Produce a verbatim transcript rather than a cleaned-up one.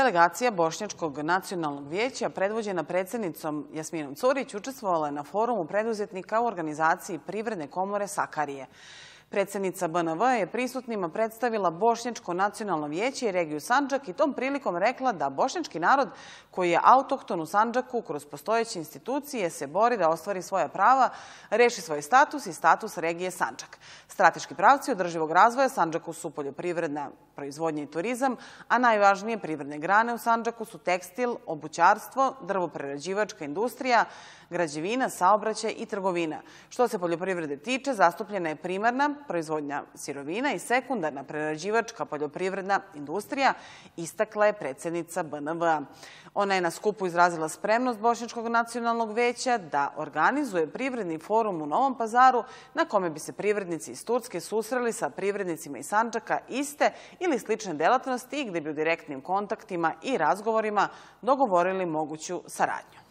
Delegacija Bošnjačkog nacionalnog vijeća, predvođena predsjednicom Jasminom Curić, učestvovala je na forumu preduzetnika u organizaciji Privredne komore Sakarije. Predsjednica B N V je prisutnima predstavila Bošnjačko nacionalno vijeće i regiju Sandžak i tom prilikom rekla da bošnjački narod koji je autohton u Sandžaku kroz postojeće institucije se bori da ostvari svoja prava, reši svoj status i status regije Sandžak. Strateški pravci održivog razvoja Sandžaku su poljoprivredna proizvodnja i turizam, a najvažnije privredne grane u Sandžaku su tekstil, obućarstvo, drvoprerađivačka industrija, građevina, saobraćaj i trgovina. Što se poljoprivrede tiče, zastupljena je primarna proizvodnja sirovina i sekundarna prerađivačka poljoprivredna industrija, istakla je predsjednica B N V. Ona je na skupu izrazila spremnost Bošnjačkog nacionalnog vijeća da organizuje privredni forum u Novom Pazaru na kome bi se privrednici iz Turske susreli sa privrednicima iz Sandžaka iste ili slične delatnosti i gdje bi u direktnim kontaktima i razgovorima dogovorili moguću saradnju.